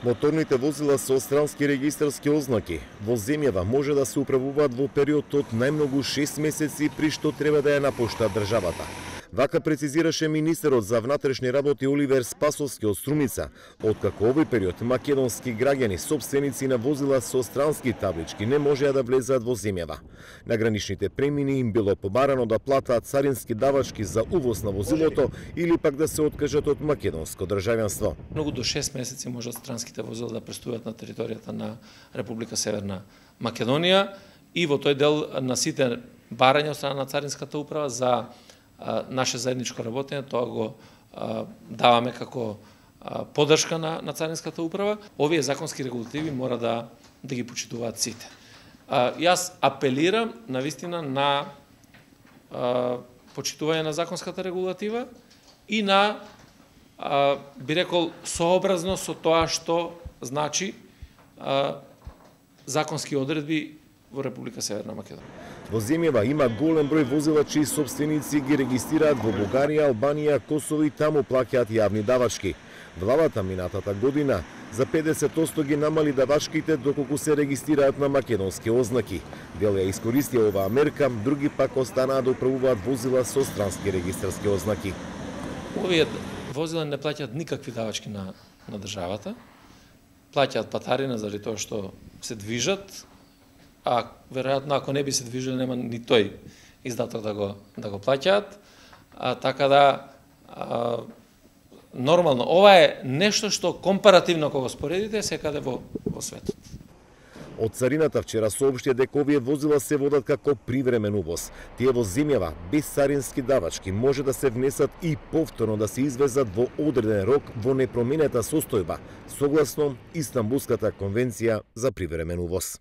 Моторните возила со странски регистарски ознаки во земјава може да се управуваат во период од најмногу 6 месеци при што треба да ја напушта државата. Вака прецизираше министерот за внатрешни работи Оливер Спасовски од Струмица, откако овој период македонски граѓани сопственици на возила со странски таблички не можеа да влезаат во земјава. На граничните премини им било побарано да платаат царински давачки за увоз на возилото или пак да се откажат од македонско државјанство. Многу до 6 месеци можат странските возила да преступат на територијата на Република Северна Македонија и во тој дел на сите барања од страна на Царинската управа за наше заедничко работење, тоа го даваме како поддршка на Царинската управа. Овие законски регулативи мора да ги почитуваат сите. Јас апелирам навистина на почитување на законската регулатива и на, би рекол, сообразно со тоа што значи законски одредби во Република Северна Македонија. Во земјава има голем број возила чии сопственици ги регистрираат во Бугарија, Албанија, Косово и таму плаќаат јавни давачки. Владата минатата година за 50% ги намали давачките доколку се регистрираат на македонски ознаки. Дел ја искористија оваа мерка, други пак останаа да управуваат возила со странски регистарски ознаки. Овие возила не плаќаат никакви давачки на државата. Плаќаат патарина заради тоа што се движат, а веројатно ако не би се движеле нема ни тој издаток да го плаќаат. Така да нормално ова е нешто што компаративно кога споредите секаде во светот. Од царината вчера соопшти дека овие возила се водат како привремен увоз. Тие во земјава без царински давачки може да се внесат и повторно да се извезат во одреден рок во непроменета состојба, согласно Истанбулската конвенција за привремен увоз.